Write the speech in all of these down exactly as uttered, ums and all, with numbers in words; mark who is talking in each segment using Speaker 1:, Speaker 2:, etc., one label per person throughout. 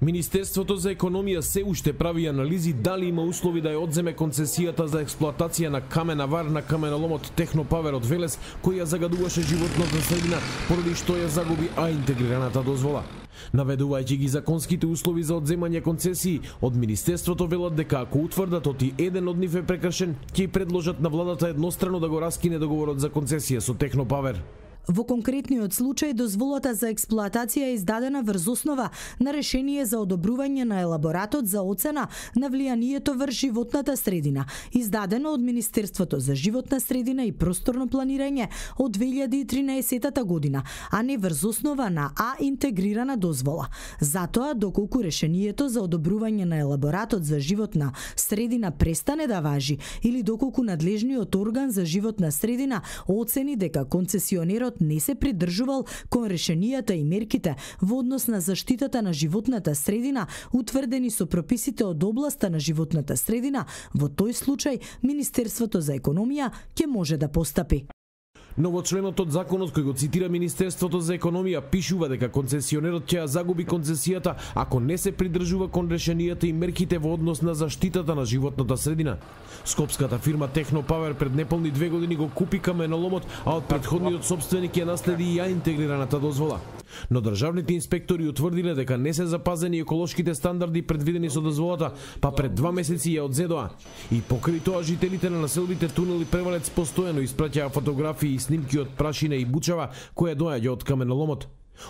Speaker 1: Министерството за економија се уште прави анализи дали има услови да ја одземе концесијата за експлоатација на камена вар на каменоломот Технопавер од Велес, кој ја загадуваше животната средина, поради што ја загуби А интегрираната дозвола. Наведувајќи ги законските услови за одземање концесии, од Министерството велат дека ако утврдат оти еден од нив е прекршен, ќе предложат на владата еднострано да го раскине договорот за концесија со Технопавер.
Speaker 2: Во конкретниот случај, дозволата за експлоатација е издадена врз основа на решение за одобрување на елаборатот за оцена на влијанието врз животната средина, издадено од Министерството за животна средина и просторно планирање од две илјади и тринаесетта година, а не врз основа на А интегрирана дозвола. Затоа, доколку решението за одобрување на елаборатот за животна средина престане да важи или доколку надлежниот орган за животна средина оцени дека концесионерот не се придржувал кон решенијата и мерките во однос на заштитата на животната средина, утврдени со прописите од областа на животната средина, во тој случај Министерството за економија ќе може да постапи.
Speaker 1: Но во членот од законот кој го цитира Министерството за економија пишува дека концесионерот ќе ја загуби концесијата ако не се придржува кон решенијата и мерките во однос на заштитата на животната средина. Скопската фирма Технопавер пред неполни две години го купи каменоломот, а од претходниот собственик ја наследи и ја интегрираната дозвола. Но државните инспектори утврдиле дека не се запазени еколошките стандарди предвидени со дозволата, па пред два месеци ја одзедоа. И покрај тоа жителите на населбите Тунел и Превалец постојано испраќаа фотографии и снимки од прашина и бучава која доаѓа од каменоломот.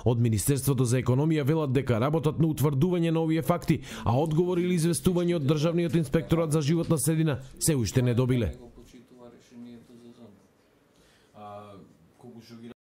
Speaker 1: Од Министерството за економија велат дека работат на утврдување на овие факти, а одговор или известување од Државниот инспекторат за животна средина се уште не добиле.